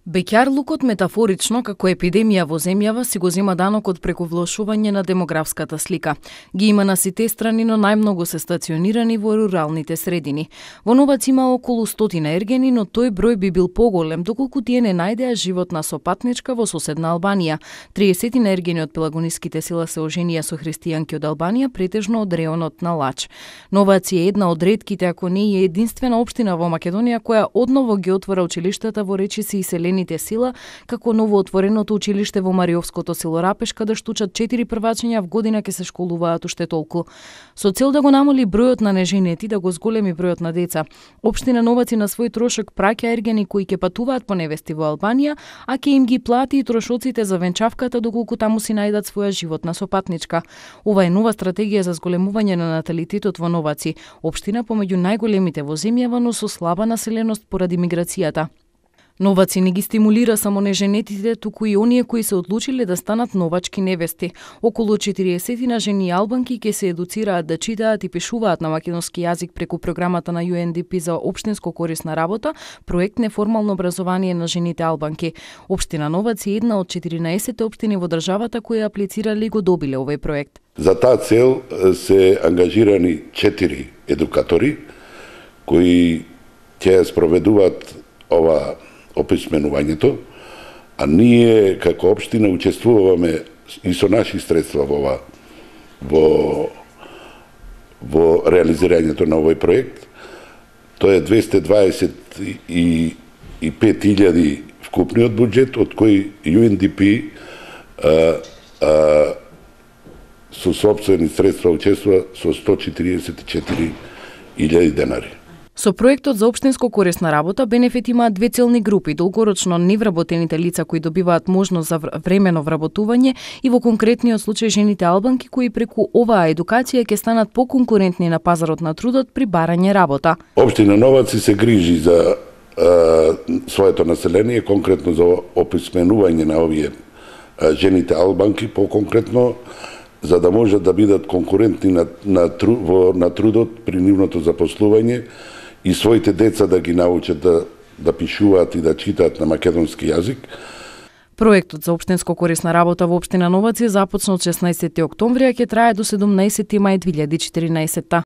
Беќарлукот метафорично како епидемија во земјава си го зема данокот преку влошување на демографската слика. Ги има на сите страни, но најмногу се стационирани во руралните средини. Во Новац има околу 100 ергени, но тој број би бил поголем доколку тие не најдеа животна сопатничка во соседна Албанија. 30 ергени од пелагониските села се оженија со христијанки од Албанија, претежно од реонот на Лач. Новац е една од ретките, ако не и единствена општина во Македонија која одново ги отвора училиштата во Речиси и Селените села, како новоотвореното училиште во Мариовското село Рапеш, каде штучат 4 првачиња в година ќе се школуваат уште толку. Со цел да го намали бројот на неженети, да го зголеми бројот на деца, општина Новац на свој трошок праќа ергени кои ќе патуваат по невести во Албанија, а ќе им ги плати и трошоците за венчавката доколку таму си најдат своја животна сопатничка. Ова е нова стратегија за зголемување на наталитетот во Новаци, општина помеѓу најголемите во земјава, но со слаба населеност поради миграцијата. Новаци не ги стимулира само неженетите, туку и оние кои се одлучиле да станат новачки невести. Околу 40 жени албанки ќе се едуцираат да читаат и пишуваат на македонски јазик преку програмата на UNDP за општинско корисна работа, проект неформално образование на жените албанки. Општина Новац е една од 14 општини во државата кои аплицирале и го добиле овој проект. За таа цел се ангажирани 4 едукатори кои ќе спроведуваат ова описменувањето, а ние како општина учествуваме и со наши средства во реализирањето на овој проект. Тоа е 225.000 вкупниот буџет, од кои UNDP со сопствени средства учествува со 144.000 денари. Со проектот за општинско корисна работа бенефит имаат две целни групи: долгорочно невработените лица кои добиваат можност за времено вработување и во конкретниот случај жените албанки кои преку оваа едукација ќе станат поконкурентни на пазарот на трудот при барање работа. Општина Новац се грижи за своето население, конкретно за описменување на овие жените албанки, по-конкретно за да можат да бидат конкурентни на трудот при нивното запослување и своите деца да ги научат да пишуваат и да читаат на македонски јазик. Проектот за општинско корисна работа во општина Новац започна од 16 октомври, а ќе трае до 17 мај 2014.